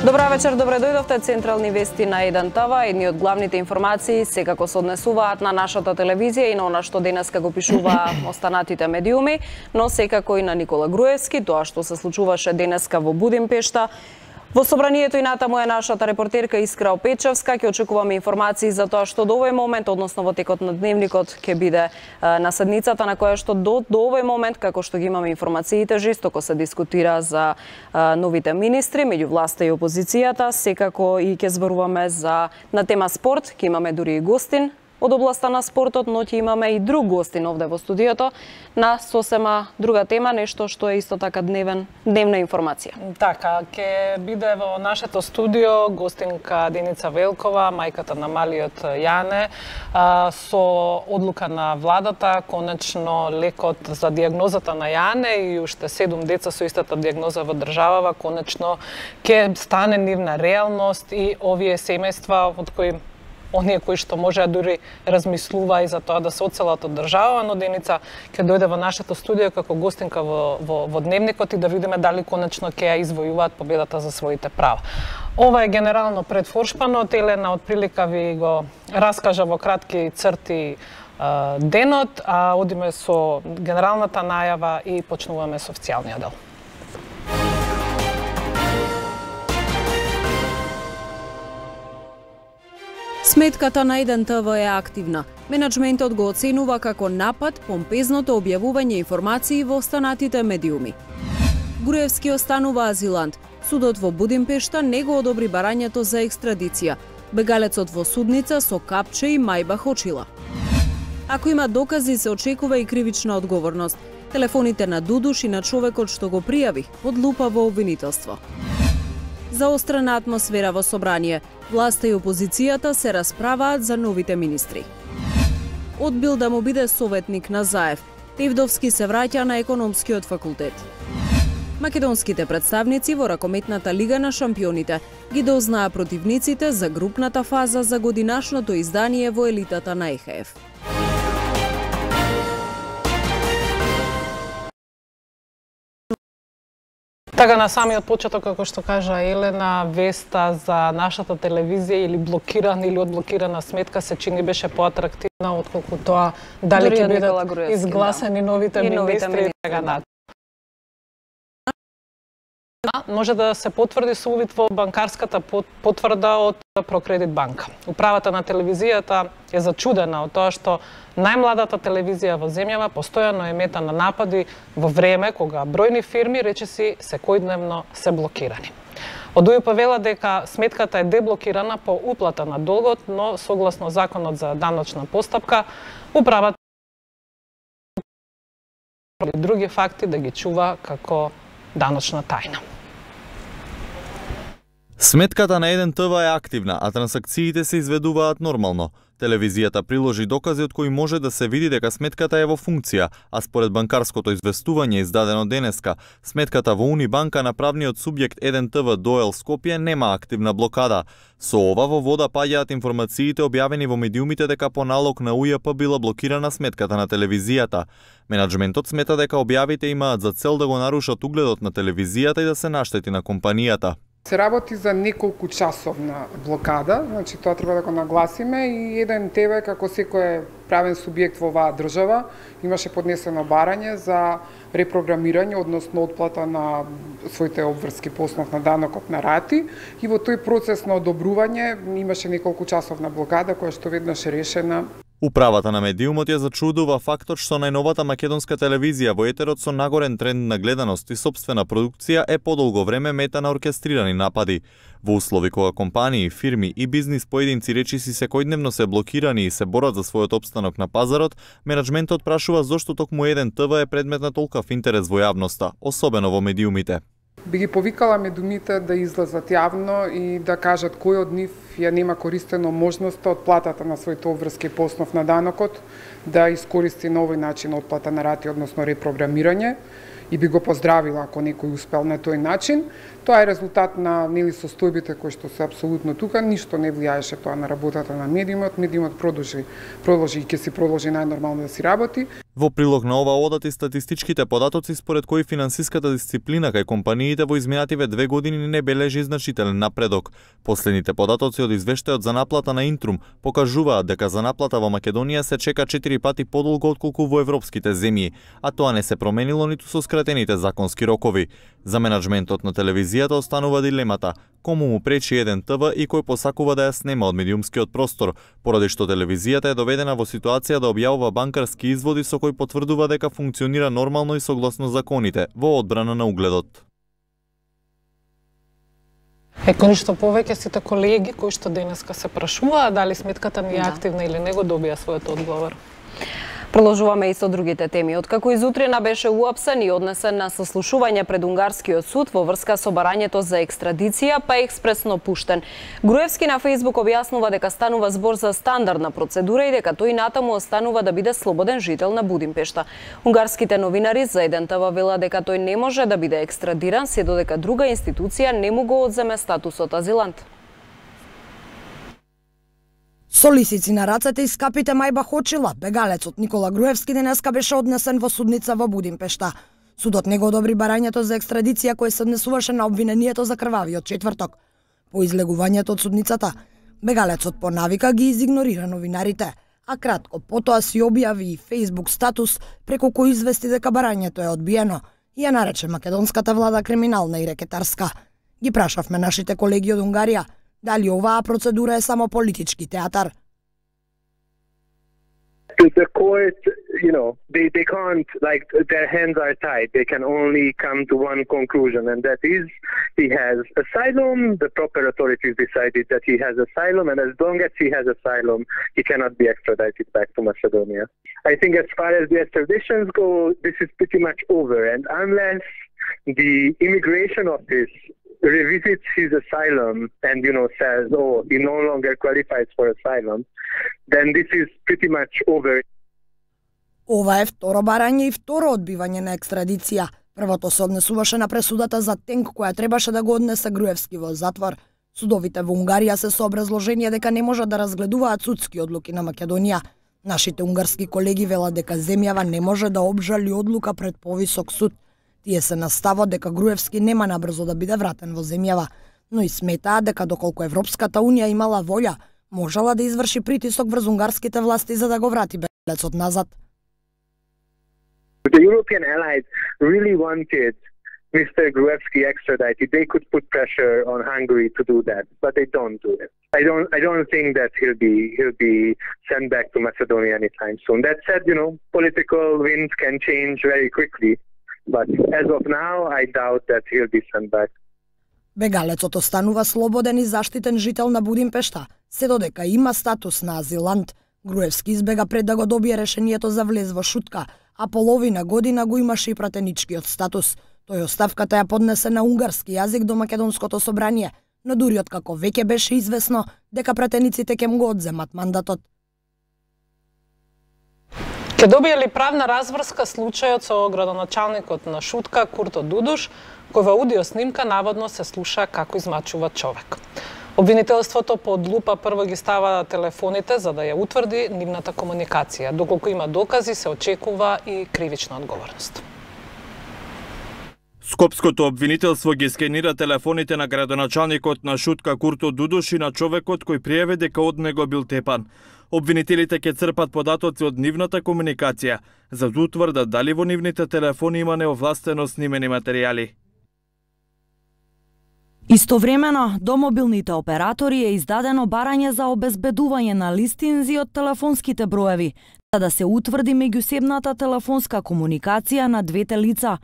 Добра вечер, добре дојдовте. Централни вести на 1 ТВ. Едни од главните информации секако се однесуваат на нашата телевизија и на она што денеска го пишува останатите медиуми, но секако и на Никола Груевски, тоа што се случуваше денеска во Будимпешта. Во собранието и натаму е нашата репортерка Искра Опечевска. Ќе очекуваме информации за тоа што до овој момент, односно во текот на дневникот, ќе биде на седницата на која што до овој момент, како што ги имаме информациите, жестоко се дискутира за новите министри меѓу власта и опозицијата. Секако и ќе зборуваме на тема спорт, ќе имаме дури и гостин од областа на спортот, но ќе имаме и друг гостин овде во студиото на сосема друга тема, нешто што е исто така дневна информација. Така, ќе биде во нашето студио гостинка Деница Велкова, мајката на малиот Јане, со одлука на владата, конечно лекот за дијагнозата на Јане и уште 7 деца со истата дијагноза во државава, конечно ќе стане нивна реалност и овие семејства од кои оние кои што може дури размислува и за тоа да се оцелат од држава, но Деница ќе дојде во нашето студио како гостинка во дневникот и да видиме дали конечно ќе ја извојуваат победата за своите права. Ова е генерално предфоршпанот, Елена отприлика ви го раскажа во кратки црти денот, а одиме со генералната најава и почнуваме со официјалниот дел. Сметката на 1 ТВ е активна. Менаџментот го оценува како напад помпезното објавување информации во останатите медиуми. Груевски останува азилант. Судот во Будимпешта не го одобри барањето за екстрадиција. Бегалецот во судница со капче и мајбах очила. Ако има докази, се очекува и кривична одговорност. Телефоните на Дудуш и на човекот што го пријави под лупа во обвинителство. Заострена атмосфера во собрание. Власта и опозицијата се расправаат за новите министри. Одбил да му биде советник на Заев. Тевдовски се враќа на економскиот факултет. Македонските представници во ракометната лига на шампионите ги дознаа противниците за групната фаза за годинашното издание во елитата на ЕХФ. Така на самиот почеток, како што кажа Елена, веста за нашата телевизија или блокирана или одблокирана сметка се чини беше поатрактивна отколку тоа дали ќе бидат изгласани новите министри. Може да се потврди со увид во банкарската потврда од Прокредит банка. Управата на телевизијата е зачудена од тоа што најмладата телевизија во земјава постојано е мета на напади во време кога бројни фирми речиси секојдневно се блокирани. Од УЈП вела дека сметката е деблокирана по уплата на долгот, но согласно законот за даночна постапка, управата и други факти да ги чува како даночна тајна. Сметката на 1 ТВ е активна, а трансакциите се изведуваат нормално. Телевизијата приложи докази од кои може да се види дека сметката е во функција, а според банкарското известување издадено денеска, сметката во Унибанка на правниот субјект 1 ТВ ДОЕЛ Скопје нема активна блокада. Со ова во вода паѓаат информациите објавени во медиумите дека по налог на УЈП била блокирана сметката на телевизијата. Менаџментот смета дека објавите имаат за цел да го нарушат угледот на телевизијата и да се наштети на компанијата. Се работи за неколку часовна блокада, значи тоа треба да го нагласиме и 1 ТВ како секој правен субјект во оваа држава имаше поднесено барање за репрограмирање, односно отплата на своите обврски по основ на данокот на рати и во тој процес на одобрување имаше неколку часовна блокада која што веднаш е решена. Управата на медиумот ја зачудува фактот што најновата македонска телевизија во етерот со нагорен тренд на гледаност и сопствена продукција е подолго време мета на оркестрирани напади. Во услови кога компании, фирми и бизнис поединци речиси секојдневно се блокирани и се борат за својот опстанок на пазарот, менаџментот прашува зошто токму 1 ТВ е предмет на толкав интерес во јавноста, особено во медиумите. Би ги повикала медиумите да излезат јавно и да кажат кој од нив ја нема користено можноста од платата на своите обврски по основ на данокот да искористи на овој начин отплата на рати, односно репрограмирање, и би го поздравила ако некој успел на тој начин. Тоа е резултат на состојбите кои што се апсолутно тука, ништо не влијаеше тоа на работата на медиумот. Медиумот продолжи и ќе си продолжи најнормално да си работи. Во прилог на ова одат и статистичките податоци според кои финансиската дисциплина кај компаниите во изминативе 2 години не бележи значителен напредок. Последните податоци од извештајот за наплата на Интрум покажуваат дека за наплата во Македонија се чека 4 пати подолго отколку во европските земји, а тоа не се променило ниту со скратените законски рокови. За менаџментот на телевизијата останува дилемата кому му пречи еден ТВ и кој посакува да ја снема од медиумскиот простор, поради што телевизијата е доведена во ситуација да објавува банкарски изводи со кој потврдува дека функционира нормално и согласно законите во одбрана на угледот. Ништо повеќе сите колеги кои што денеска се прашуваат дали сметката ни е активна или не го добија својот одговор. Продолжуваме и со другите теми. Откако изутрина беше уапсен и однесен на сослушување пред унгарскиот суд во врска со барањето за екстрадиција, па експресно пуштен. Груевски на Фејсбук објаснува дека станува збор за стандардна процедура и дека тој натаму останува да биде слободен жител на Будимпешта. Унгарските новинари за еден ТВ велат дека тој не може да биде екстрадиран се додека друга институција не му го одземе статусот азилант. Со лисици на рацете и скапите мајба хочила, бегалецот Никола Груевски денеска беше однесен во судница во Будимпешта. Судот не го одобри барањето за екстрадиција кое се однесуваше на обвинението за крвавиот четврток. По излегувањето од судницата, бегалецот по навика ги изигнорира новинарите, а кратко потоа си објави и Facebook статус преку кој извести дека барањето е одбиено и ја нарече македонската влада криминална и рекетарска. Ги прашавме нашите колеги од Унгарија дали оваа процедура е само политички театар. The court, they can't, their hands are tied. They can only come to one conclusion, and that is he has asylum. The proper authorities decided that he has asylum, and as long as he has asylum, he cannot be extradited back to Macedonia. I think as far as the extraditions go, this is pretty much over, and unless the immigration office revisits his asylum and says, oh, he no longer qualifies for asylum, then this is pretty much over. Ова е второ барање и второ одбивање на екстрадиција. Првото се однесуваше на пресудата за тенк која требаше да го однесе Груевски во затвор. Судовите во Унгарија се со образложение дека не можат да разгледуваат судски одлуки на Македонија. Нашите унгарски колеги велат дека земјава не може да обжали одлука пред повисок суд. Тие се настават дека Груевски нема набрзо да биде вратен во земјава, но и сметаат дека доколку Европската унија имала волја, можела да изврши притисок врз унгарските власти за да го врати бегалецот назад. The European allies really wanted Mr. Gruevski extradited. They could put pressure on Hungary to do that, but they don't do it. I don't think that he'll be sent back to Macedonia anytime soon. That said, political winds can change very quickly. But as of now, I doubt that he'll be sent back. Бегалецот останува слободен и заштитен жител на Будимпешта, се додека има статус на азилант. Груевски избега пред да го добие решението за влез во шутка, а половина година го имаше и пратеничкиот статус. Тој оставката ја поднесе на унгарски јазик до Македонското собрание, но дури откако веќе беше известно дека пратениците ќе му го одземат мандатот. Ке добие ли правна разврска случајот со градоначалникот на Шутка Курто Дудуш, кој во аудио снимка наводно се слуша како измачува човек? Обвинителството под лупа прво ги става телефоните за да ја утврди нивната комуникација. Доколку има докази, се очекува и кривична одговорност. Скопското обвинителство ги скенира телефоните на градоначалникот на Шутка Курто Дудуш и на човекот кој пријави дека од него бил тепан. Обвинителите ќе црпат податоци од нивната комуникација, за да утврдат дали во нивните телефони има неовластено снимени материјали. Истовремено, до мобилните оператори е издадено барање за обезбедување на листинзи од телефонските броеви, за да се утврди меѓусебната телефонска комуникација на двете лица.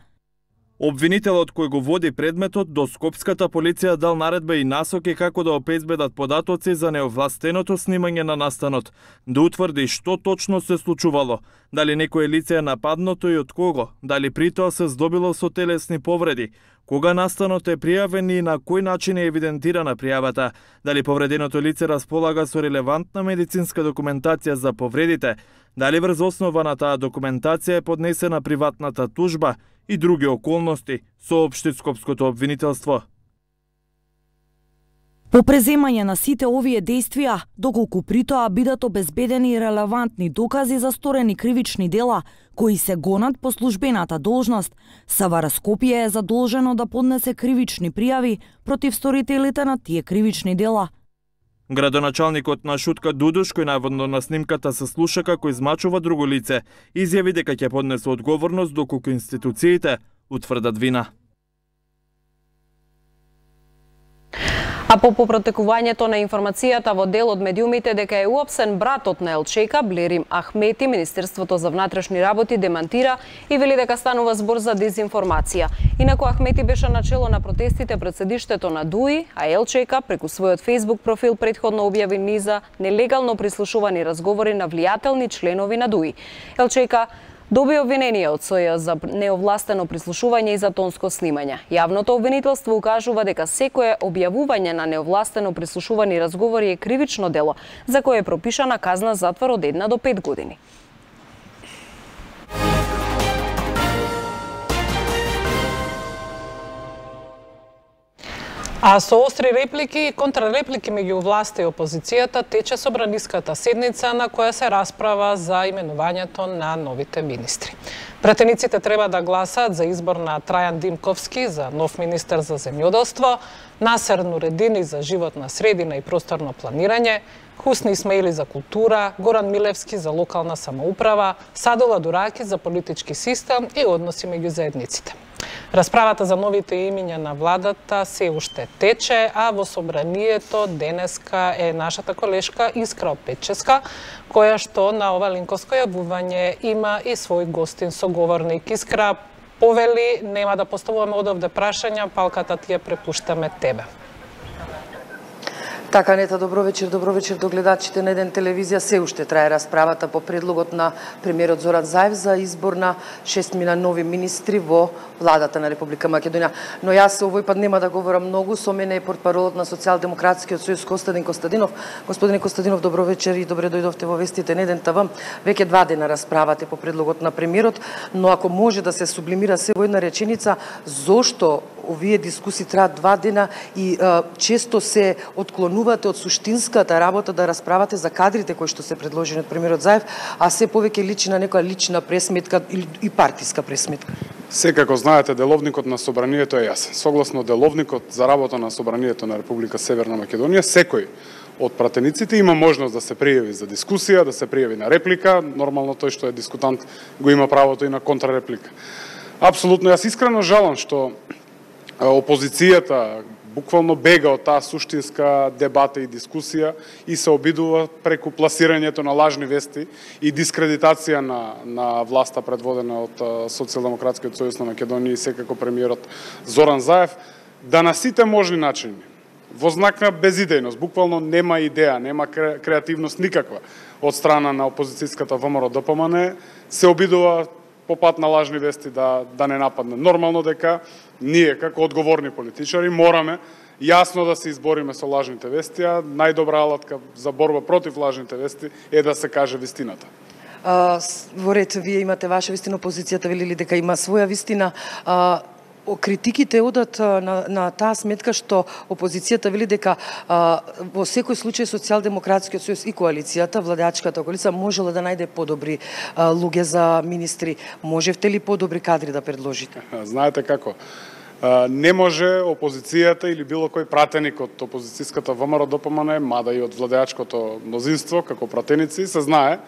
Обвинителот кој го води предметот до Скопската полиција дал наредба и насоки како да обезбедат податоци за неовластеното снимање на настанот, да утврди што точно се случувало, дали некое лице е нападнато и од кого, дали при тоа се здобило со телесни повреди, кога настанот е пријавен и на кој начин е евидентирана пријавата, дали повреденото лице располага со релевантна медицинска документација за повредите, дали врз основа на таа документација е поднесена приватната тужба и други околности, соопшти Скопското обвинителство. По преземање на сите овие действија, доколку при тоа бидат обезбедени релевантни докази за сторени кривични дела, кои се гонат по службената должност, СВР Скопје е задолжено да поднесе кривични пријави против сторителите на тие кривични дела. Градоначалникот на Шутка Дудуш, кој наводно на снимката се слуша како измачува друго лице, изјави дека ќе поднесе одговорност доколку институциите утврдат вина. А по попротекувањето на информацијата во дел од медиумите дека е уапсен братот на Елчека, Блерим Ахмети, Министерството за внатрешни работи демантира и вели дека станува збор за дезинформација. Инаку Ахмети беше начело на протестите пред седиштето на ДУИ, а Елчека преку својот Facebook профил претходно објави низа нелегално прислушувани разговори на влијателни членови на ДУИ. Елчека доби обвинение од СОЈ за неовластено прислушување и за тонско снимање. Јавното обвинителство укажува дека секое објавување на неовластено прислушувани разговори е кривично дело, за кое е пропишана казна затвор од 1 до 5 години. А со остри реплики и контрареплики меѓу власта и опозицијата тече собраниската седница на која се расправа за именувањето на новите министри. Пратениците треба да гласат за избор на Трајан Димковски за нов министер за земјоделство, Насер Нуредини за животна средина и просторно планирање, Хусни Исмаили за култура, Горан Милевски за локална самоуправа, Садола Дураки за политички систем и односи меѓу заедниците. Расправата за новите имиња на владата се уште тече, а во собранието денеска е нашата колешка Искра Опеческа, која што на ова линковско јавување има и свој гостин соговорник. Искра, повели, нема да поставуваме одовде прашања, палката ти ја препуштаме тебе. Така, Нета, добро вечер до гледачите на Еден телевизија. Се уште трае расправата по предлогот на премиерот Зоран Заев за избор на 6 нови министри во владата на Република Македонија. Но јас овој пат нема да говорам многу, со мене е портпаролот на Социјалдемократскиот сојуз Костадин Костадинов. Господине Костадинов, добро вечер и добре дојдовте во вестите на Еден ТВ. Веќе 2 дена расправате по предлогот на премиерот, но ако може да се сублимира се во една реченица, зошто овие дискусии траат 2 дена и често се отклонувате од суштинската работа да расправате за кадрите кои што се предложени од премиерот Заев, а се повеќе личи на некоја лична пресметка и партиска пресметка? Секако знаете, деловникот на собранието е јасен. Согласно деловникот за работа на собранието на Република Северна Македонија, секој од пратениците има можност да се пријави за дискусија, да се пријави на реплика. Нормално тој што е дискутант го има правото и на контрареплика. Апсолутно, јас искрено жалам што опозицијата буквално бега од таа суштинска дебата и дискусија и се обидува преку пласирањето на лажни вести и дискредитација на власта предводена од Социјалдемократскиот сојуз на Македонија и секако премиерот Зоран Заев, да на сите можни начини, во знак на безидејност, буквално нема идеја, нема креативност никаква од страна на опозицијската ВМРО ДПМН, се обидува по пат на лажни вести да не нападне. Нормално дека ние, како одговорни политичари, мораме јасно да се избориме со лажните вести, а најдобра алатка за борба против лажните вести е да се каже вистината. Во ред, вие имате ваша вистина, опозицијата вели дека има своја вистина. Критиките одат на таа сметка што опозицијата вели дека во секој случај Социјалдемократскиот сојуз и коалицијата, владеачката коалиција, можела да најде подобри луѓе за министри. Можевте ли подобри кадри да предложите? Знаете како? Не може опозицијата или било кој пратеник од опозицијската ВМРО ДПМН, мада и од владеачкото мнозинство, како пратеници, се знае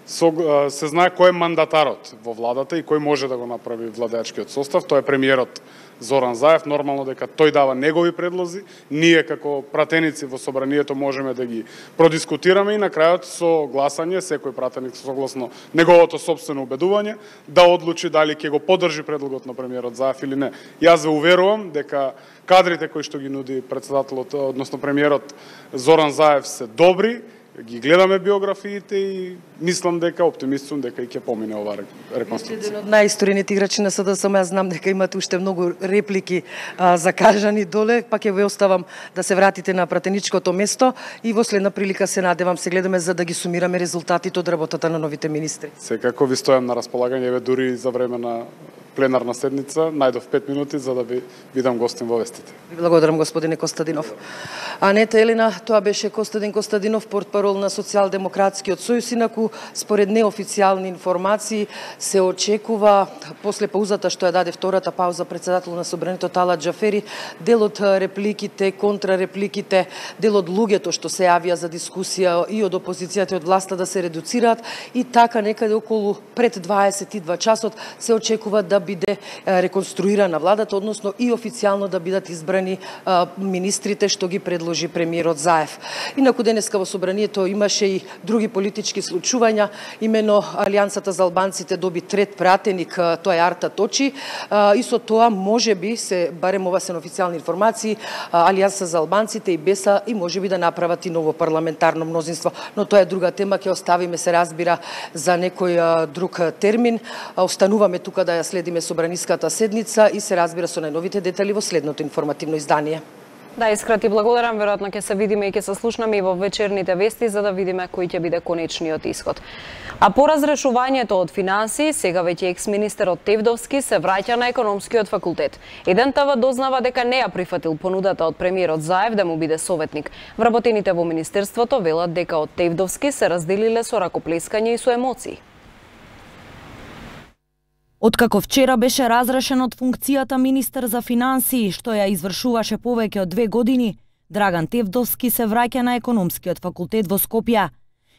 кој е мандатарот во владата и кој може да го направи владеачкиот состав. Тоа е премиерот Зоран Заев. Нормално дека тој дава негови предлози. Ние како пратеници во собранието можеме да ги продискутираме и на крајот со гласање секој пратеник согласно неговото сопствено убедување да одлучи дали ќе го поддржи предлогот на премиерот Заев или не. Јас ве уверувам дека кадрите кои што ги нуди председателот, односно премиерот Зоран Заев се добри, ги гледаме биографиите и мислам дека оптимист сум дека и ќе помине оваа реконструкција. Еден од најисторините играчи на СДСМ, јас знам дека имате уште многу реплики закажани доле, па ќе ве оставам да се вратите на пратеничкото место и во следна прилика се надевам се гледаме за да ги сумираме резултатите од работата на новите министри. Секако ви стојам на располагање, еве дури за време на пленарна седница, најдов 5 минути за да ви бидам гостин во вестите. Ви благодарам, господине Костадинов. Анета Елина, тоа беше Костадин Костадинов, портпарол на Социјалдемократскиот сојуз, инаку според неофицијални информации се очекува после паузата што ја даде втората пауза председател на Собранието Талат Џафери, дел од репликите, контрарепликите, дел од луѓето што се јавија за дискусија и од опозицијата и од власта да се редуцираат и така некаде околу пред 22 часот се очекува да биде реконструирана владата, односно и официјално да бидат избрани министрите што ги предложи премиерот Заев. Инаку денеска во Собранието имаше и други политички случувања, имено Алијансата за албанците доби трет пратеник, тоа е Арта Точи, и со тоа можеби се, барем ова се официјални информации, Алијанса за албанците и БЕСА и можеби да направат и ново парламентарно мнозинство, но тоа е друга тема, ќе оставиме се разбира за некој друг термин. Остануваме тука да ја следиме собраниската седница и се разбира со најновите детали во следното информативно издание. Да, Искра, ти благодарам. Веројатно ќе се видиме и ќе се слушнаме и во вечерните вести за да видиме кој ќе биде конечниот исход. А по разрешувањето од финансии, сега веќе екс-министерот Тевдовски се враќа на економскиот факултет. Еден ТВ дознава дека не ја прифатил понудата од премиерот Заев да му биде советник. Вработените во министерството велат дека од Тевдовски се разделиле со ракоплескање и со емоции. Откако вчера беше разрешен од функцијата министер за финансии, што ја извршуваше повеќе од 2 години, Драган Тевдовски се враќа на економскиот факултет во Скопје.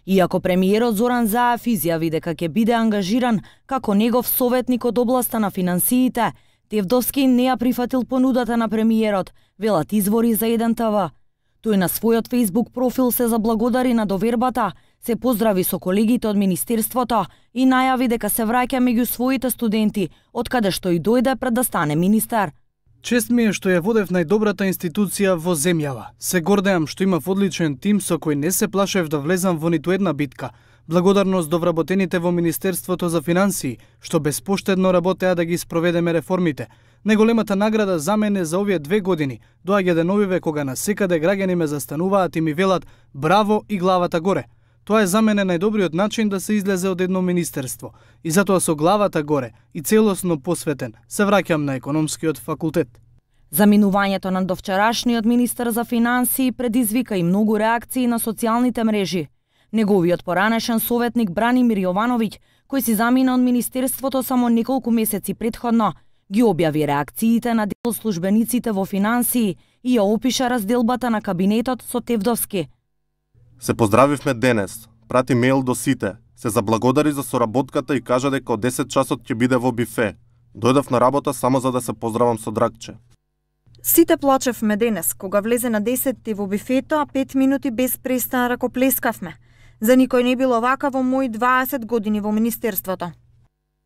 Иако премиерот Зоран Заев изјави дека ќе биде ангажиран како негов советник од областа на финансиите, Тевдовски не ја прифатил понудата на премиерот, велат извори за Еден ТВ. Тој на својот Facebook профил се заблагодари на довербата, се поздрави со колегите од Министерството и најави дека се враќа меѓу своите студенти, од каде што и дојде пред да стане министер. Чест ми е што ја водев најдобрата институција во земјава. Се гордеам што имав одличен тим со кој не се плашев да влезам во ниту една битка. Благодарност до вработените во Министерството за финансии, што безпоштедно работеа да ги спроведеме реформите. Најголемата награда за мене за овие 2 години доаѓа деновиве кога насекаде граѓани ме застануваат и ми велат браво и главата горе. Тоа е за мене најдобриот начин да се излезе од едно министерство. И затоа со главата горе и целосно посветен се враќам на економскиот факултет. Заминувањето на довчерашниот министер за финансии предизвика и многу реакции на социјалните мрежи. Неговиот поранешен советник Бранимир Јовановиќ, кој си замина од министерството само неколку месеци претходно, ги објави реакциите на дел службениците во финансии и ја опиша разделбата на кабинетот со Тевдовски. Се поздравивме денес, прати мејл до сите, се заблагодари за соработката и кажа дека од 10 часот ќе биде во бифе. Дојдов на работа само за да се поздравам со Драгче. Сите плачевме денес, кога влезе на 10 во бифето, а 5 минути без престан ракоплескавме. За никој не било вака во мои 20 години во министерството.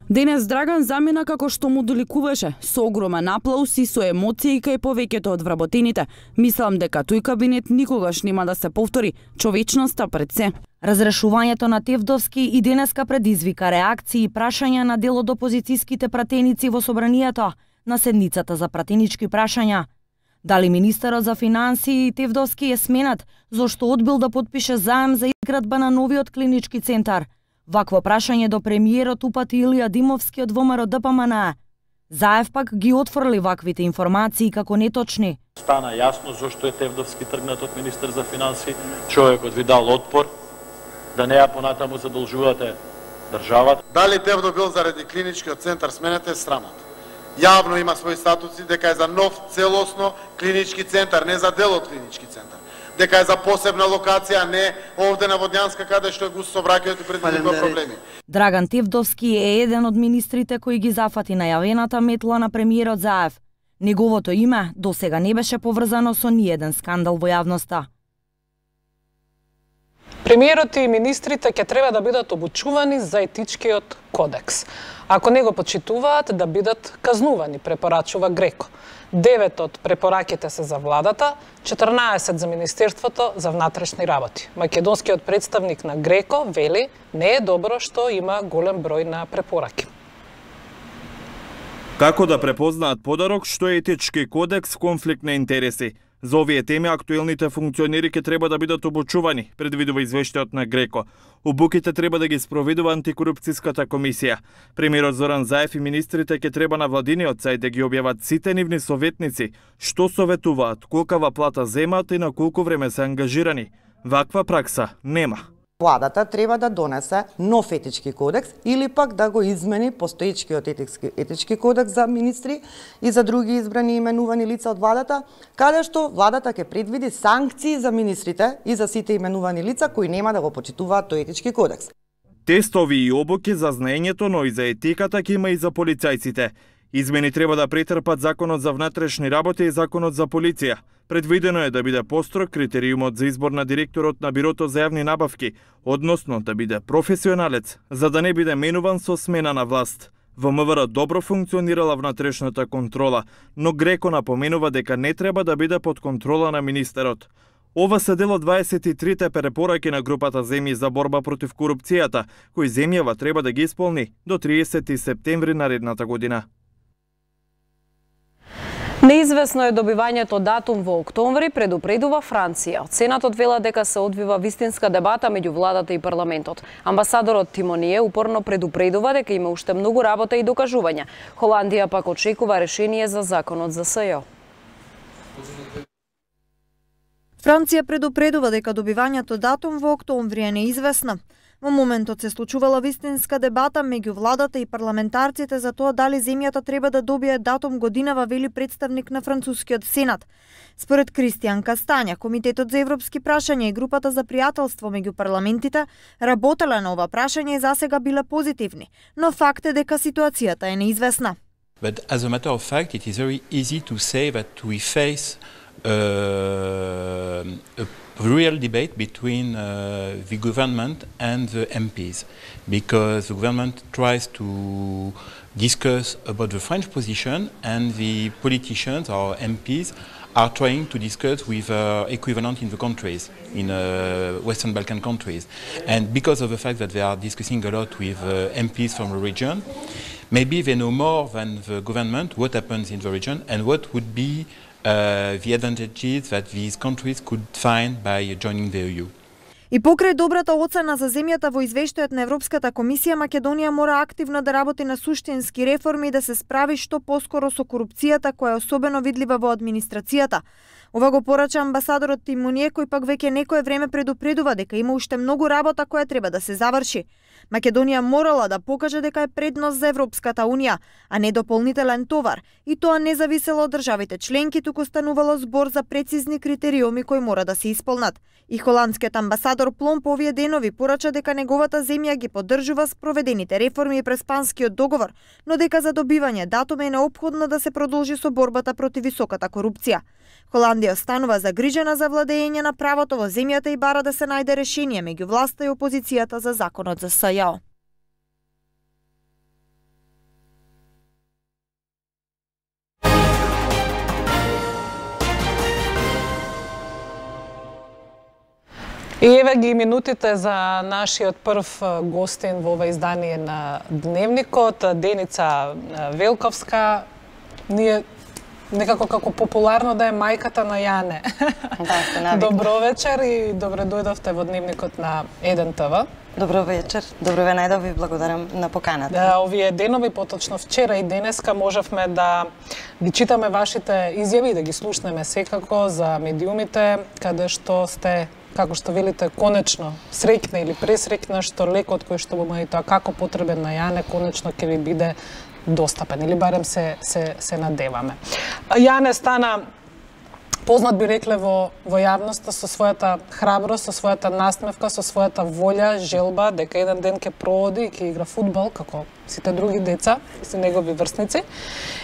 Денес Драган замина како што му доликуваше, со огромен аплаус и со емоции кај повеќето од вработените. Мислам дека тој кабинет никогаш нема да се повтори, човечноста пред се. Разрешувањето на Тевдовски и денеска предизвика реакции и прашања на дел од опозицијските пратеници во Собранието на седницата за пратенички прашања. Дали министерот за финансии Тевдовски е сменат зашто одбил да потпише заем за изградба на новиот клинички центар? Вакво прашање до премиерот упати Илија Димовски од ВМРО ДПМН. Заев пак ги отфрли ваквите информации како неточни. Стана јасно зашто е Тевдовски тргнат од министер за финансии, човекот ви дал отпор, да не ја понатаму задолжувате државата. Дали Тевдо бил заради клиничкиот центар сменете срамот? Јавно има своји статуси дека е за нов целосно клинички центар, не за дел од клинички центар. Дека е за посебна локација, не овде на Водњанска каде што е густ сообраќајот и предизвикува проблеми. Драган Тевдовски е еден од министрите кои ги зафати најавената метла на премиерот Заев. Неговото име досега не беше поврзано со ниеден скандал во јавноста. Премиерот и министрите ќе треба да бидат обучувани за етичкиот кодекс. Ако не го почитуваат, да бидат казнувани, препорачува Греко. 9 од препораките се за владата, 14 за Министерството за внатрешни работи. Македонскиот представник на Греко вели не е добро што има голем број на препораки. Како да препознаат подарок што е етички кодекс конфликт на интереси? За овие теми актуелните функционери ќе треба да бидат обучувани, предвидува извештајот на Греко. Обуките треба да ги спроведува антикорупцијската комисија. Премиерот Зоран Заев и министрите ќе треба на владиниот сајт да ги објават сите нивни советници, што советуваат, колкава плата земаат и на колку време се ангажирани. Ваква пракса нема. Владата треба да донесе нов етички кодекс или пак да го измени постоечкиот етички кодекс за министри и за други избрани и именувани лица од владата, каде што владата ќе предвиди санкции за министрите и за сите именувани лица кои нема да го почитуваат тој етички кодекс. Тестови и обуки за знаењето, но и за етиката ќе има и за полицајците. Измени треба да претрпат Законот за внатрешни работи и Законот за полиција. Предвидено е да биде построг критериумот за избор на директорот на Бирото за јавни набавки, односно да биде професионалец, за да не биде менуван со смена на власт. Во МВР добро функционирала внатрешната контрола, но Греко напоменува дека не треба да биде под контрола на министерот. Ова се дел од 23-те препораки на групата Земји за борба против корупцијата, кои земјава треба да ги исполни до 30 септември наредната година. Неизвестно е добивањето датум во октомври, предупредува Франција. Сенатот вела дека се одвива вистинска дебата меѓу владата и парламентот. Амбасадорот Тимоние упорно предупредува дека има уште многу работа и докажувања. Холандија пак очекува решение за законот за СЈО. Франција предупредува дека добивањето датум во октомври е неизвестна. Во моментот се случувала вистинска дебата меѓу владата и парламентарците за тоа дали земјата треба да добие датум годинава, вели представник на францускиот сенат. Според Кристијан Кастања, Комитетот за европски прашања и групата за пријателство меѓу парламентите работеле на ова прашање и засега биле позитивни, но факт е дека ситуацијата е неизвестна. But as a matter of fact, it is very easy to say that we face a real debate between the government and the MPs, because the government tries to discuss about the French position and the politicians or MPs are trying to discuss with equivalent in the countries, in Western Balkan countries. And because of the fact that they are discussing a lot with MPs from the region, maybe they know more than the government what happens in the region and what would be the advantages that these countries could find by joining the EU. И покрај добрата оцена за земјата во извештајот на Европската комисија, Македонија мора активно да работи на суштински реформи и да се справи што поскоро со корупцијата која е особено видлива во администрацијата. Ова го порача амбасадорот Тимоние, кој пак веќе некое време предупредува дека има уште многу работа која треба да се заврши. Македонија морала да покаже дека е предност за Европската Унија, а не дополнителен товар, и тоа не зависело од државите членки, туку станувало збор за прецизни критериуми кои мора да се исполнат. И холандскиот амбасадор Плом по овие денови порача дека неговата земја ги поддржува спроведените реформи през Панскиот договор, но дека за добивање датум е неопходно да се продолжи со борбата против високата корупција. Холандија останува загрижена за владење на правото во земјата и бара да се најде решение меѓу власта и опозицијата за законот за СЈО. И еве ги минутите за нашиот прв гостин во ова издание на Дневникот, Деница Велковска. Ние некако како популарно да е мајката на Јане. Да, Добро вечер и добре дојдовте во Дневникот на 1 ТВ. Добро вечер, добро ве најдов и благодарам на поканата. Да, овие денови, поточно вчера и денеска, можевме да ги читаме вашите изјави и да ги слушнеме секако за медиумите, каде што сте, како што велите, конечно среќна или пресреќна што лекот кој што има и тоа како потребен на Јане, конечно ќе ви биде достапен, или барем се надеваме. Јане стана познат, би рекле, во јавноста со својата храброст, со својата насмевка, со својата волја, желба дека еден ден ќе проводи и ќе игра фудбал како сите други деца и се негови врсници.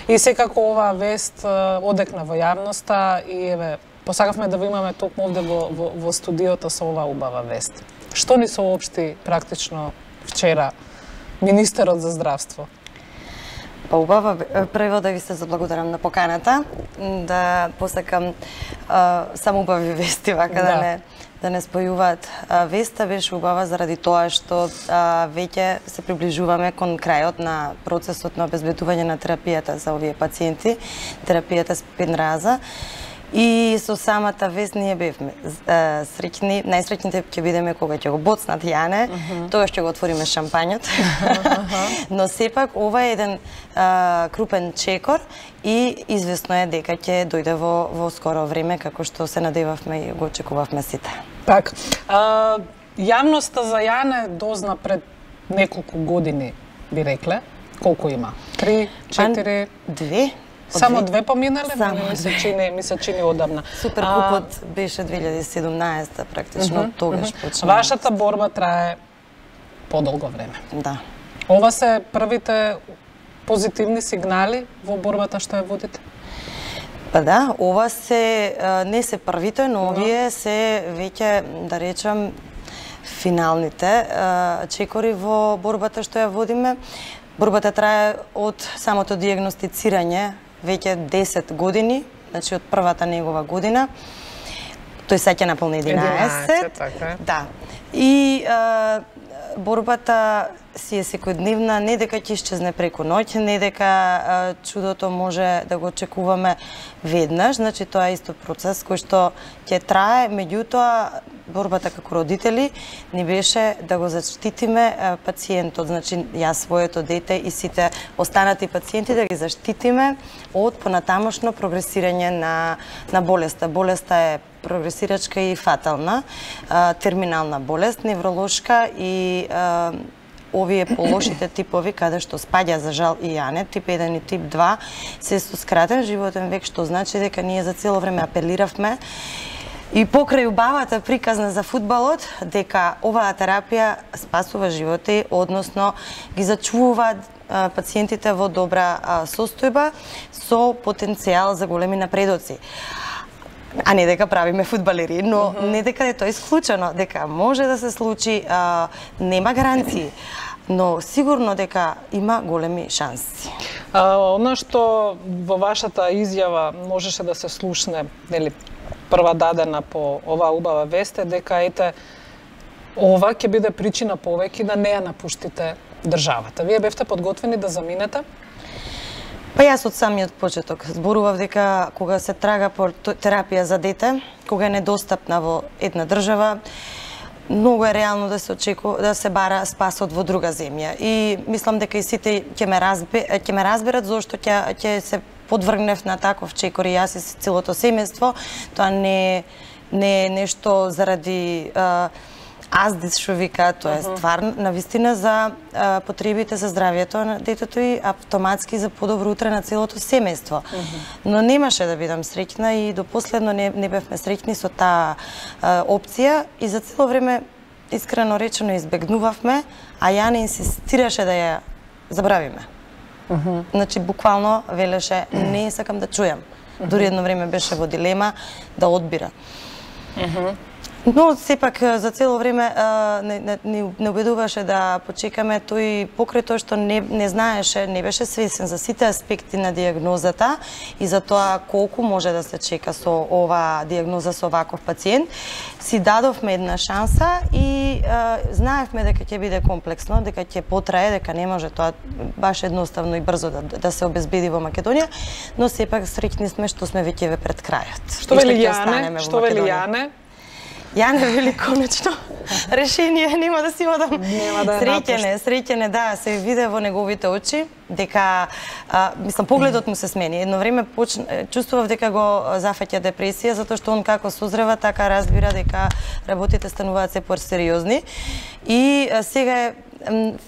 И секако оваа вест одекна во јавноста и еве посакавме да ви имаме токму овде во студиото со оваа убава вест. Што ни соопшти практично вчера министерот за здравство? Па убава, прво да ви се заблагодарам на поканата, да посакам само убави вести, вака да не спојуваат. Веста беше убава заради тоа што веќе се приближуваме кон крајот на процесот на обезбедување на терапијата за овие пациенти, терапијата Спинраза. И со самата вест ние бевме среќни, најсреќните ќе бидеме кога ќе го боцнат Јане, тогаш ќе го отвориме шампањот. Но сепак ова е еден крупен чекор и известно е дека ќе дојде во скоро време, како што се надевавме и го очекувавме сите. Так, јавноста за Јане дозна пред неколку години, би рекле. Колку има? 3, 4? 2. Само 2 поминале? Ми се чини одамна. Суперкупот беше 2017 практично, тогаш почна. Вашата борба трае подолго време. Да. Ова се првите позитивни сигнали во борбата што ја водите? Па да, ова не се првите, но овие се веќе, да речам, финалните чекори во борбата што ја водиме. Борбата трае од самото диагностицирање веќе 10 години, значи од првата негова година. Тој сеќа наполни 11. Така. Да. И борбата си е секојдневна, не дека ќе исчезне преку ноќ, не дека чудото може да го очекуваме веднаш, значи тоа е исто процес кој што ќе трае, меѓутоа борбата како родители ни беше да го заштитиме пациентот, значи јас своето дете и сите останати пациенти да ги заштитиме од понатамошно прогресирање на болеста. Болеста е прогресирачка и фатална, терминална болест, невролошка и овие полошите типови, каде што спаѓа за жал и Јане, тип 1 и тип 2, се со скратен животен век, што значи дека ние за цело време апелиравме и покрај убавата приказна за фудбалот, дека оваа терапија спасува животи, односно ги зачувува пациентите во добра состојба со потенцијал за големи напредоци. А не дека правиме фудбалери, но не дека е тоа исклучено, дека може да се случи, нема гаранции, но сигурно дека има големи шанси. Она што во вашата изјава можеше да се слушне, нели, прва дадена по оваа убава вест е дека ова ќе биде причина повеќе да не ја напуштите државата. Вие бевте подготвени да заминете? Па јас од самиот почеток зборував дека кога се трага по терапија за дете, кога е недостапна во една држава, многу е реално да се очекува да се бара спасот во друга земја. И мислам дека и сите ќе ме разберат зошто ќе се подвргнев на таков чекор и јас и целото семејство. Тоа не е нешто заради аздис што вика, тоа е стварно, навистина за потребите за здравието на детето и автоматски за подобро утре на целото семејство. Но немаше да бидам среќна и до последно не бевме среќни со таа опција и за цело време искрено речено избегнувавме, а Јане инсистираше да ја забравиме. Значи буквално велеше не сакам да чујам. Дури едно време беше во дилема да одбира. Но сепак за цело време не убедуваше да почекаме, тој покрај тоа што не знаеше, не беше свесен за сите аспекти на диагнозата и за тоа колку може да се чека со оваа диагноза со ваков пациент, си дадовме една шанса и знаевме дека ќе биде комплексно, дека ќе потрае, дека не може тоа баш едноставно и брзо да се обезбеди во Македонија, но сепак среќни сме што сме веќе пред крајот. Што вели Јане? Што вели Јане? Јане вели конечно решение, нема да си одам. Среќен е, да, се виде во неговите очи дека мислам погледот му се смени. Едно време чувствував дека го зафаќа депресија затоа што он како созрева така разбира дека работите стануваат се посериозни и сега е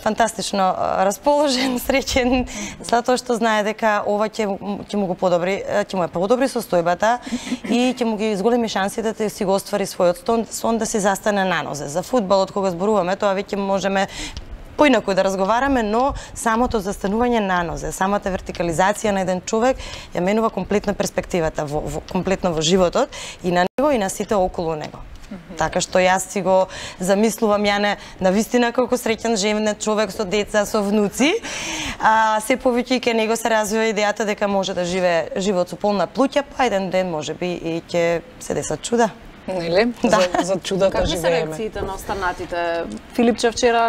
фантастично расположен, среќен, затоа што знае дека ова ќе му го подобри, ќе му е подобри состојбата и ќе му ги зголеми шансите да си го оствари својот сон да се застане на нозе. За фудбалот кога зборуваме, тоа веќе можеме поинаку да разговараме, но самото застанување на нозе, самата вертикализација на еден човек ја менува комплетно перспективата комплетно во животот и на него и на сите околу него. Така што јас си го замислувам Јане навистина колку среќен женет човек со деца, со внуци. Се повеќе ке него се развива идејата дека може да живее живот со полна плуќа, па еден ден можеби и ќе се десат чуда. Нели? За чудата живееме. Какви се реакциите на останатите? Филипче вчера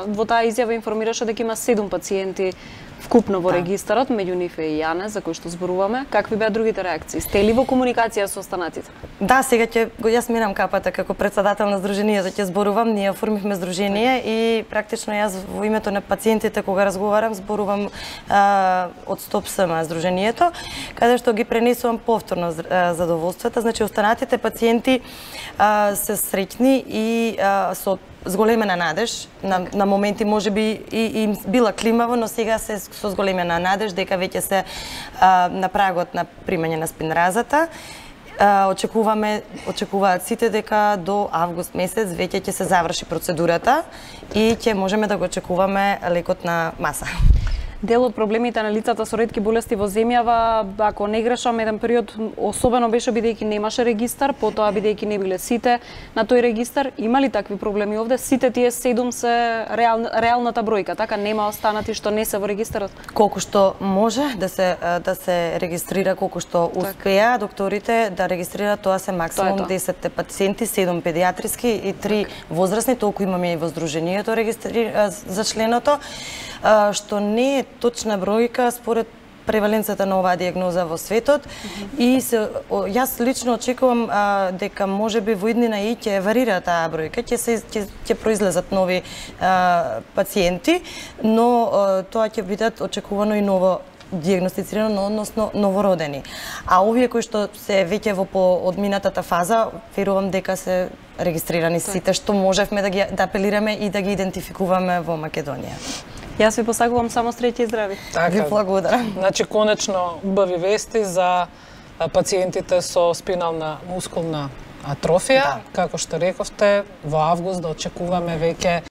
во таа изјава информираше дека има 7 пациенти вкупно во регистарот, меѓу нив е и Јане, за кој што зборуваме. Какви беа другите реакции? Сте ли во комуникација со останатите? Да, сега јас минам капата како председател на здруженијето ќе зборувам. Ние оформивме здружение и практично јас во името на пациентите кога разговарам зборувам од Стоп СМ здруженијето, каде што ги пренесувам повторно задоволствата. Значи останатите пациенти се среќни и со зголемена надеж, на моменти можеби и им била климаво, но сега се со зголемена надеж дека веќе се на прагот на примање на спинразата. Очекуваат сите дека до август месец веќе ќе се заврши процедурата и ќе можеме да го очекуваме лекот на маса. Дел од проблемите на лицата со ретки болести во земјава, ако не грешам, еден период особено беше бидејќи немаше регистар, потоа бидејќи не биле сите на тој регистар. Има ли такви проблеми овде? Сите тие 7 се реалната бројка, така нема останати што не се во регистарот? Колку што може да се регистрира, колку што успеа докторите да регистрираат, тоа се максимум 10 пациенти, 7 педиатриски и 3 возрастни, толку имаме и во здруженијето за членото, што не е точна бројка според преваленцата на оваа диагноза во светот и јас лично очекувам дека можеби во иднина и ќе варира таа бројка, ќе произлезат нови пациенти, но тоа ќе бидат очекувано и ново диагностицирано, односно новородени. А овие кои што се веќе во одминатата фаза, верувам дека се регистрирани сите што можевме да апелираме и да ги идентификуваме во Македонија. Јас ви посакувам само среќа и здрави. Ви благодарам. Значи, конечно, убави вести за пациентите со спинална мускулна атрофија. Како што рековте, во август да очекуваме веќе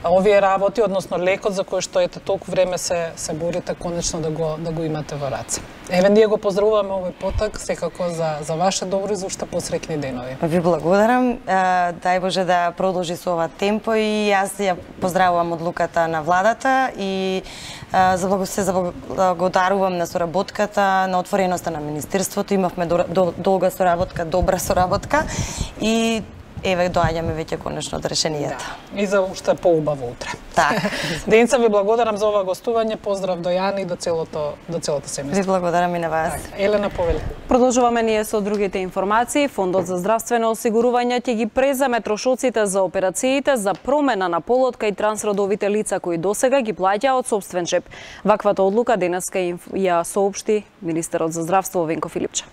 овие работи, односно лекот за кој што ете толку време се борите, конечно да го имате во раце. Еве, ние го поздравуваме овој поток, секако за ваше добро и за уште посреќни денови. Ви благодарам. Дај Боже да продолжи со ова темпо и јас ја поздравувам одлуката на владата и се заблагодарувам на соработката, на отвореноста на Министерството. Имавме долга соработка, добра соработка и еве доаѓаме веќе конечно до решенијата. Да. И за уште поубаво утре. Така. Денца ви благодарам за ова гостување, поздрав до Јани и до целото семејство. Ви благодарам и на вас. Елена повели. Продолжуваме ние со другите информации. Фондот за здравствено осигурување ќе ги преземе трошоците за операциите за промена на полот кај трансродовите лица кои досега ги плаќаа од сопствен джеб. Ваквата одлука денеска ја соопшти министерот за здравство Венко Филипче.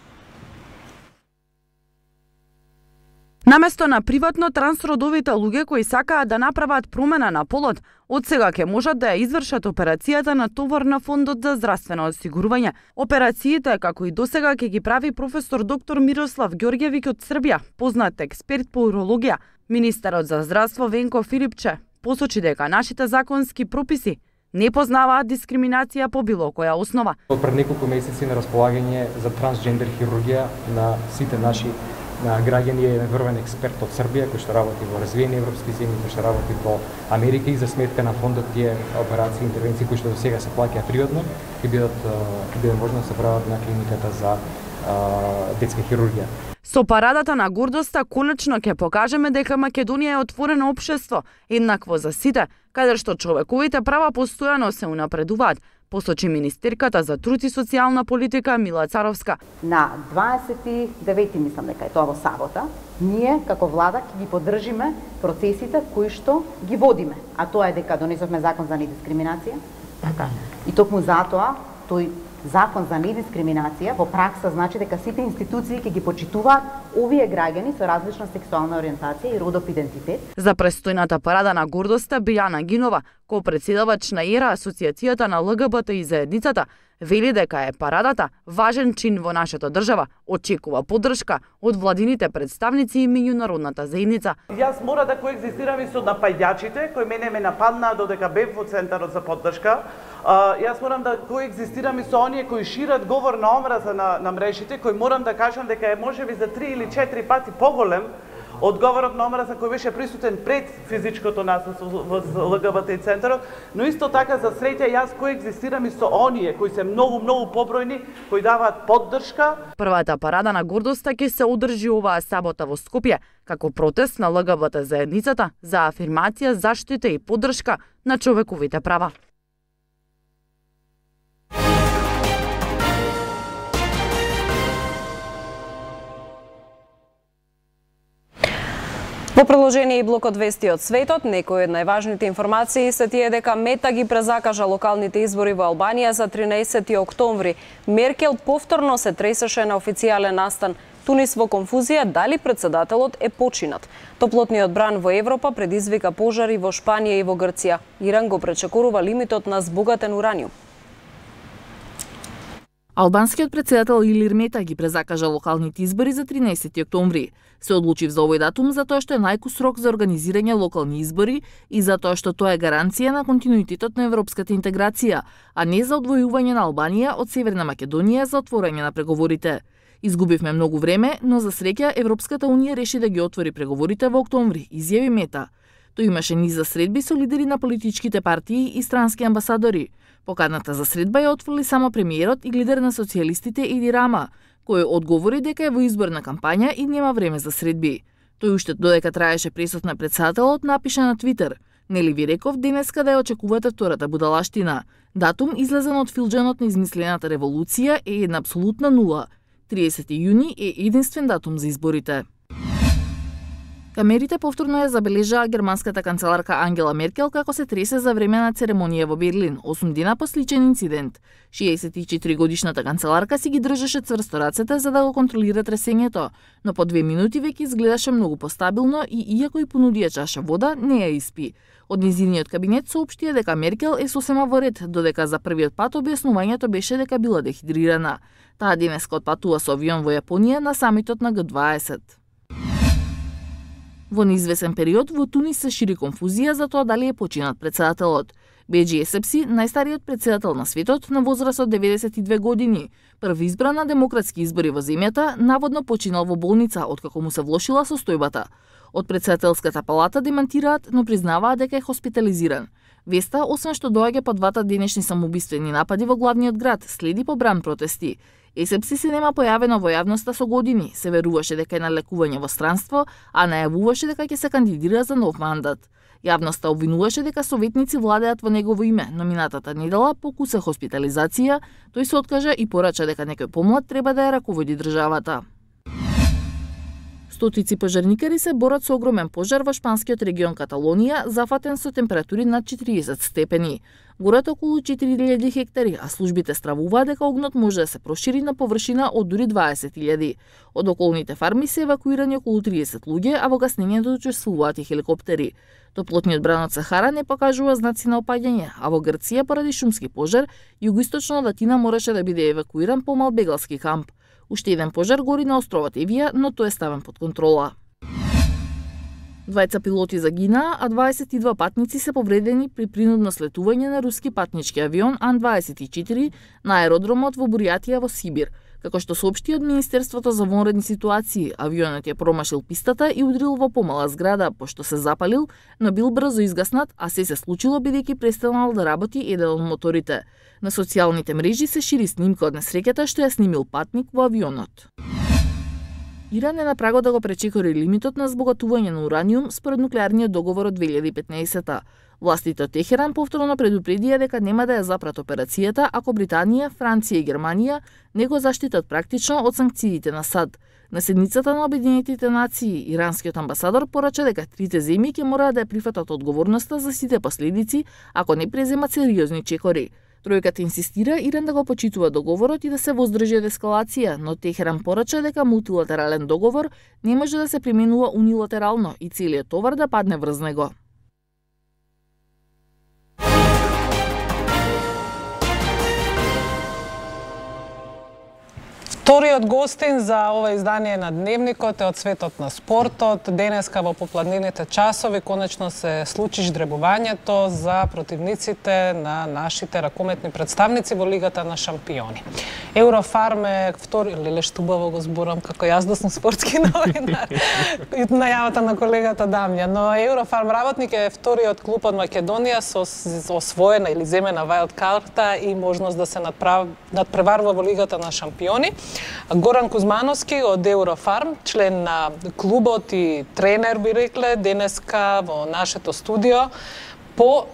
Наместо на приватно трансродовите луѓе кои сакаат да направат промена на полот, од сега ќе можат да ја извршат операцијата на товар на Фондот за здравствено осигурување. Операциите, како и досега, ќе ги прави професор доктор Мирослав Ѓорѓевиќ од Србија, познат експерт по урологија. Министерот за здравство Венко Филипче посочи дека нашите законски прописи не познаваат дискриминација по било која основа. Пред неколку месеци на располагање за трансджендер хирургија на сите наши граѓани е врвен експерт од Србија кој што работи во развиени европски земји, кој што работи во Америка и за сметка на фондот тие операции и интервенции кои што до сега се плаќаат приватно ќе биде можно да се прават на клиниката за детска хирургија. Со парадата на гордоста конечно ќе покажеме дека Македонија е отворено општество, еднакво за сите, каде што човековите права постојано се унапредуваат, посочи министерката за труд и социјална политика Мила Царовска. На 29 мислам дека е тоа во сабота, ние како влада ќе ги поддржиме процесите кои што ги водиме, а тоа е дека донесовме закон за недискриминација. Така. И токму затоа тој закон за недискриминација во пракса значи дека сите институции ќе ги почитуваат овие граѓани со различна сексуална ориентација и родов идентитет. За престојната парада на гордоста Бијана Гинова, ко-председавач на ЕРА, Асоцијацијата на ЛГБТ и заедницата, вели дека е парадата важен чин во нашата држава, очекува поддршка од владините представници и меѓународната заедница. Јас мора да коегзистирам и со напаѓачите кои мене ме нападнаа додека бев во центарот за поддршка. Јас морам да коегзистирам и со оние кои шират говор на омраза на мрежите, кои морам да кажам дека е можеби за 3 или 4 пати поголем од говорот на омраза кој беше присутен пред физичкото насилство во ЛГБТ центарот, но исто така за среќа јас коегзистирам и со оние кои се многу побројни, кои даваат поддршка. Првата парада на гордоста ќе се одржи оваа сабота во Скопје, како протест на ЛГБТ заедницата за афирмација, заштита и поддршка на човековите права. 9 Во приложение и блокот вести од светот, некои од најважните информации се тие дека Мета ги презакажа локалните избори во Албанија за 13 октомври. Меркел повторно се тресеше на официјален настан. Тунис во конфузија дали председателот е починат. Топлотниот бран во Европа предизвика пожари во Шпанија и во Грција. Иран го пречекорува лимитот на збогатен ураниум. Албанскиот председател Илир Мета ги презакажа локалните избори за 13 октомври. Се одлучив за овој датум затоа што е најкус рок за организирање локални избори и затоа што тоа е гаранција на континуитетот на европската интеграција, а не за одвојување на Албанија од Северна Македонија за отворање на преговорите. Изгубивме многу време, но за среќа Европската унија реши да ги отвори преговорите во октомври, изјави Мета. Тој имаше низ за средби со лидери на политичките партии и странски амбасадори. Поканата за средба ја отфрли само премиерот и лидер на социјалистите Еди Рама, кој одговори дека е во изборна кампања и нема време за средби. Тој уште додека траеше пресот на председателот напиша на Твитер: "Нели ви реков денеска да ја очекувате втората будалаштина. Датум излезен од филџанот на измислената револуција е една апсолутна нула. 30 јуни е единствен датум за изборите." Камерите повторно ја забележаа германската канцеларка Ангела Меркел како се тресе за време на церемонија во Берлин, 8 дена по сличен инцидент. 64-годишната канцеларка си ги држеше цврсто рацете за да го контролира тресењето, но по 2 минути веќе изгледаше многу постабилно и иако и понудија чаша вода, не ја испи. Од низиниот кабинет соопштија дека Меркел е сосема во ред, додека за првиот пат објаснувањето беше дека била дехидрирана. Таа денеска отпатува со авион во Јапонија на самитот на Г20. Во неизвесен период во Тунис се шири конфузија за тоа дали е починат председателот. Беџи Есепси, најстариот председател на светот на возраст од 92 години, први избран на демократски избори во земјата, наводно починал во болница откако му се влошила состојбата. Од председателската палата демантираат, но признаваат дека е хоспитализиран. Веста, освен што доаѓа по двата денешни самоубиствени напади во главниот град, следи побран протести. Есепси се нема појавено во јавноста со години, се веруваше дека е на лекување во странство, а најавуваше дека ќе се кандидира за нов мандат. Јавноста обвинуваше дека советници владеат во негово име, но минатата недела покуса хоспитализација, тој се откажа и порача дека некој помлад треба да ја раководи државата. Стотици пожарникари се борат со огромен пожар во шпанскиот регион Каталонија, зафатен со температури над 40 степени. Горат околу 4000 хектари, а службите стравуваат дека огнот може да се прошири на површина од дури 20.000. Од околните фарми се евакуирани околу 30 луѓе, а во гаснењето учествуваат и хеликоптери. Топлотниот бран од Сахара не покажува знаци на опаѓање, а во Грција поради шумски пожар, југоисточно од Атина мораше да биде евакуиран помал бегалски камп. Уште еден пожар гори на островот Евија, но тој е ставен под контрола. Двајца пилоти загинаа, а 22 патници се повредени при принудно слетување на руски патнички авион Ан-24 на аеродромот во Буријатија во Сибир. Како што соопшти од Министерството за вонредни ситуации, авионот ја промашил пистата и удрил во помала зграда, пошто се запалил, но бил брзо изгаснат, а се случило бидејќи престанал да работи еден од моторите. На социјалните мрежи се шири снимка од несреќата што ја снимил патник во авионот. Иран е на прагот да го пречекори лимитот на збогатување на ураниум според нуклеарниот договор од 2015-та. Властите од Техеран повторно предупредија дека нема да ја запрат операцијата ако Британија, Франција и Германија не го заштитат практично од санкциите на САД. На седницата на Обединетите нации, иранскиот амбасадор порача дека трите земји ќе мораат да ја прифатат одговорноста за сите последици ако не преземат сериозни чекори. Тројката инсистира Иран да го почитува договорот и да се воздржи од ескалација, но Техеран порача дека мултилатерален договор не може да се применува унилатерално и целиот товар да падне врз него. Вториот гостин за ова издание на Дневникот е од светот на спортот. Денеска во попладнините часови конечно се случи ждребувањето за противниците на нашите ракометни представници во Лигата на шампиони. Еврофарм е втори... Леле, штубаво го зборам како јас да сум спортски новинар. Најавата на колегата Дамјан. Но Еврофарм работник е вториот клуб од Македонија со освоена или земена вајлд карта и можност да се надпреварува во Лигата на шампиони. Горан Кузмановски од Еврофарм, член на клубот и тренер би рекле, денеска во нашето студио по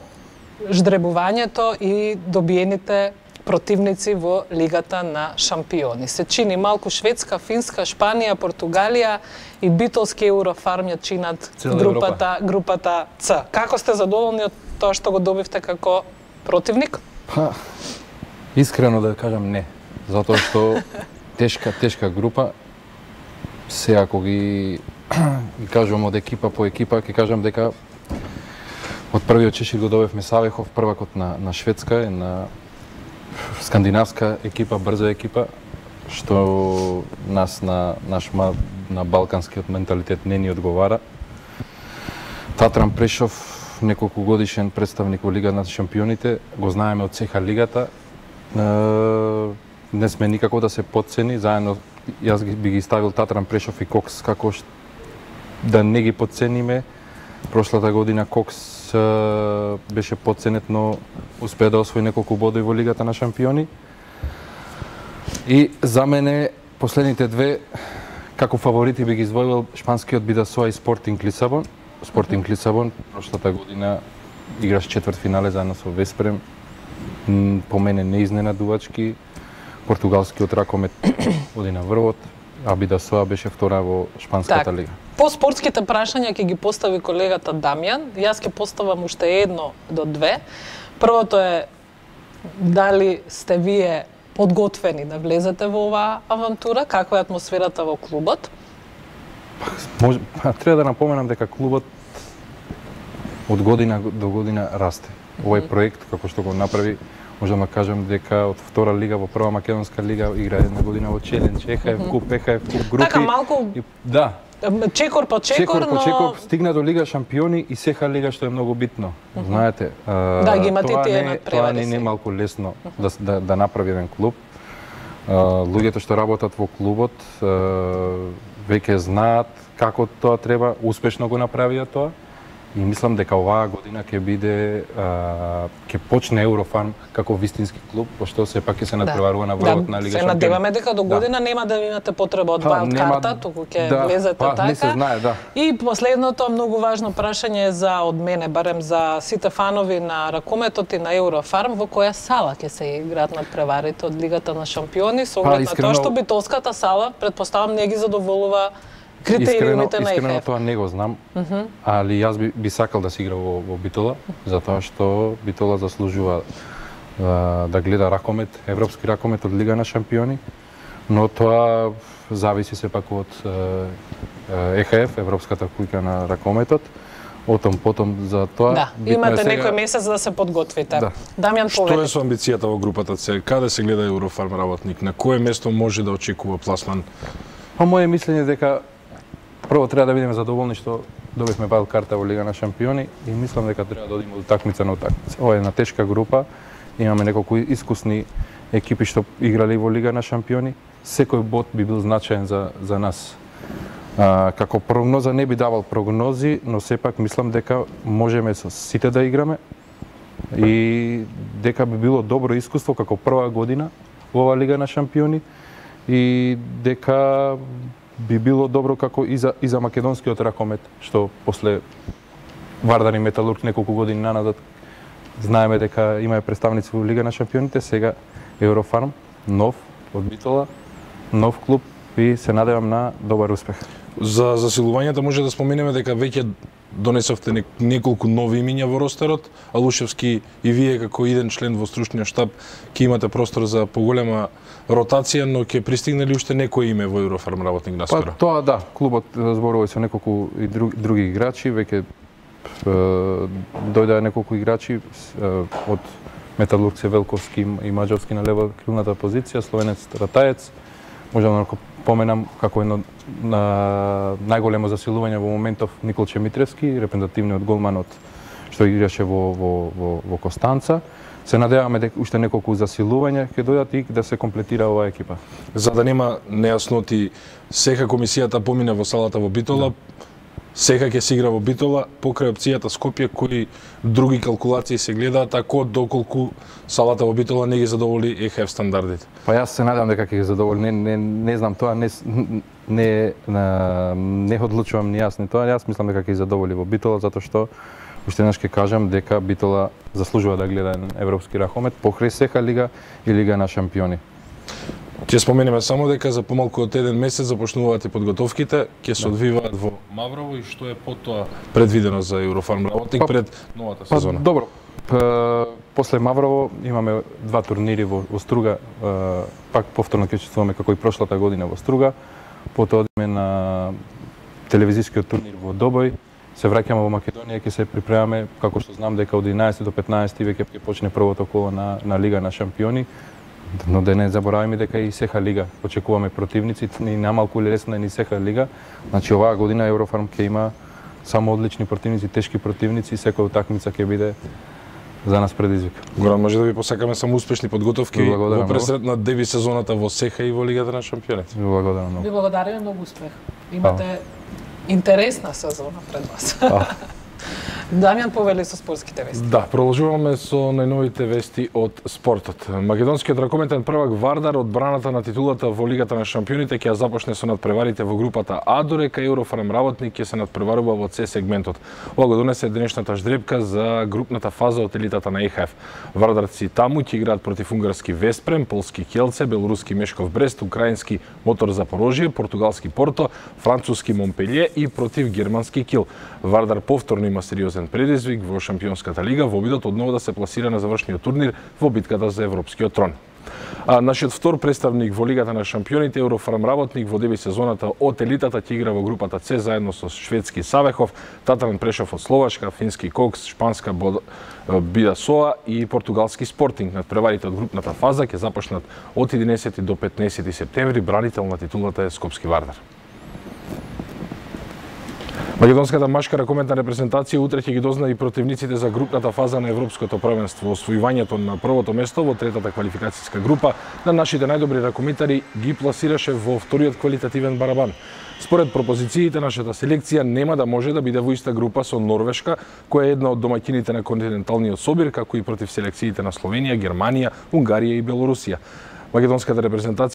ждребувањето и добиените противници во Лигата на шампиони. Се чини малку Шведска, Финска, Шпанија, Португалија и битолски Еврофарм ја чинат групата Ц. Како сте задоволни од тоа што го добивте како противник? Искрено да кажам не, затоа што тешка група. Сега ако ги кажувам од екипа по екипа, ќе кажам дека од првиот чешир го добивме Савехов, првакот на Шведска и на скандинавска екипа, брза екипа, што на балканскиот менталитет не ни одговара. Татран Прешов, неколку годишен представник во Лига на шампионите, го знаеме од ЦХ лигата. Не сме никако да се потцени, заедно јас би ги ставил Татран Прешов и Кокс како да не ги потцениме. Прошлата година Кокс беше потценет, но успеа да освои неколку бодови во Лигата на шампиони. И за мене последните две како фаворити би ги издвоил шпанскиот Бидасоа и Спортинг Лисабон. Спортинг Лисабон прошлата година играш четвртфинале заедно со Веспрем. По мене неизненадувачки. Португалскиот Ракомет оди на врвот, а Бидасоа беше втора во шпанската лига. По спортските прашања ќе ги постави колегата Дамјан. Јас ќе поставам уште едно до две. Првото е дали сте вие подготвени да влезете во оваа авантура, каква е атмосферата во клубот? Треба да напоменам дека клубот од година до година расте. Овој проект, како што го направи, можам да кажам дека од втора лига во прва македонска лига игра една година во Челендж, ЕХФ куп, ЕХФ куп групи. Така малку да. Чекор по чекор, но стигна до Лига шампиони и СХ лига, што е многу битно. Знаете, да, ги имате тие надпревари. Тоа не е малку лесно да направи еден клуб. Луѓето што работат во клубот веќе знаат како тоа треба, успешно го направија тоа. И мислам дека оваа година ќе биде ќе почне Еврофарм како вистински клуб, пошто сепак ќе се надпреварува на врвот на Лига шампиони. Се надеваме дека до година нема да имате потреба од вајлд карта, туку ќе влезете така. Не се знае, да. И последното многу важно прашање за од мене, барем за сите фанови на ракометот и на Еврофарм, во која сала ќе се играат надпреварите од Лигата на шампиони, со оглед на тоа што битолската сала претпоставам не ги задоволува критериумите на ЕХФ. Искрено тоа не го знам, али јас би сакал да се игра во Битола, затоа што Битола заслужува да гледа ракомет, европски ракомет од Лига на шампиони, но тоа зависи сепак од ЕХФ, Европската куќа на ракометот. Потом за тоа. Да, имате некој месец да се подготвите. Да. Дамјан, што е со амбицијата во групата С? Каде се гледа Еврофарм работник? На кое место може да очекува пласман? Моје мислење дека прво треба да бидеме задоволни што добивме вајлд карта во Лига на шампиони и мислам дека треба да одиме од такмица на такмица. Ова е една тешка група, имаме неколку искусни екипи што играли во Лига на шампиони. Секој бод би бил значаен за нас. Како прогноза не би давал прогнози, но сепак мислам дека можеме со сите да играме и дека би било добро искуство како прва година во оваа Лига на шампиони и дека би било добро како и за македонскиот ракомет, што после Вардар и Металург неколку години наназад знаеме дека имаме представници во Лига на шампионите, сега Еврофарм, нов од Битола, нов клуб и се надевам на добар успех. За засилувањата може да споменеме дека веќе донесовте неколку нови имиња во ростерот. Алушевски и вие како иден член во стручниот штаб ќе имате простор за поголема ротација, но ќе пристигнали уште некој име во Еврофарм работник наскоро? Тоа да, клубот зборува со неколку и други играчи, веќе дојдоа неколку играчи од Металург Велковски и Маđовски на лева крилната позиција, словенец Ратаец. Можам да поменам како едно најголемо засилување во моментов Никол Чемитревски, репрезентативниот голман што играше во Костанца. Се надеваме дека уште неколку засилувања ќе дојдат и да се комплетира оваа екипа. За да нема нејасноти, сека комисијата помина во салата во Битола, сека ќе се игра во Битола, покрај опцијата Скопје, кои други калкулации се гледаат, ако доколку салата во Битола не ги задоволи ЕХФ стандардите? Јас се надам дека ќе ги задоволи, не знам тоа, не одлучувам ни јас ни тоа, јас мислам дека ќе ги задоволи во Битола, затоа што уште еднаш ќе кажам дека Битола заслужува да гледа европски ракомет покрај сека лига и лига на шампиони. Ќе споменеме само дека за помалку од еден месец започнуваат и подготовките, ќе се одвиваат во Маврово и што е потоа предвидено за Еврофарм работник пред новата сезона. Добро. После Маврово имаме два турнири во Струга, пак повторно ќе учествуваме како и прошлата година во Струга, потоа одиме на телевизискиот турнир во Добој, се враќаме во Македонија, ќе се припремаме, како што знам дека од 11 до 15 веќе ќе почне првото коло на Лига на шампиони, но да не забораваме дека и сеха лига очекуваме противници, ни намалку лесна ни сеха лига. Значи оваа година Еврофарм ќе има само одлични противници, тешки противници, секоја утакмица ќе биде за нас предизвик. Горан, може да ви посакаме само успешни подготовки во пресрет на деби сезоната во сеха и во Лигата на шампионите. Благодарам многу. Ви благодариме, многу успех. Имате интересна сезона пред вас. Дамјан повели со спортските вести. Да, продолжуваме со најновите вести од спортот. Македонскиот ракометен prvак Вардар одбраната на титулата во Лигата на шампионите ќе започне со надпреварите во групата А, додека Еврофарм работник ќе се надпреварува во С сегментот. Ова го донесе денешната ждрепка за групната фаза од елитата на ЕХФ. Вардарци таму ќе играат против унгарски Веспрем, полски Келце, белоруски Мешков Брест, украински Мотор Запорожје, португалски Порто, француски Монпелје и против германски Кил. Вардар повторно има сериозен предизвик во шампионската лига во обидот одново да се пласира на завршниот турнир во битката за европскиот трон. А нашиот втор представник во Лигата на шампионите, Еврофарм работник во деби сезоната од елитата ќе игра во групата С заедно со шведски Савехов, Татаран Прешов од Словачка, фински Кокс, шпанска Бидасоа и португалски Спортинг. Надпреварите од групната фаза ќе започнат од 11 до 15 септември. Бранител на титулата е Скопски Вардар. Македонската машка ракометна репрезентација утре ќе ги дозна и противниците за групната фаза на Европското првенство. Освојувањето на првото место во третата квалификацијска група на нашите најдобри ракометари ги пласираше во вториот квалитативен барабан. Според пропозициите, нашата селекција нема да може да биде во иста група со Норвешка, која е една од домаќините на континенталниот собир, како и против селекциите на Словенија, Германија, Унгарија и Белорусија. Македонската репрезентација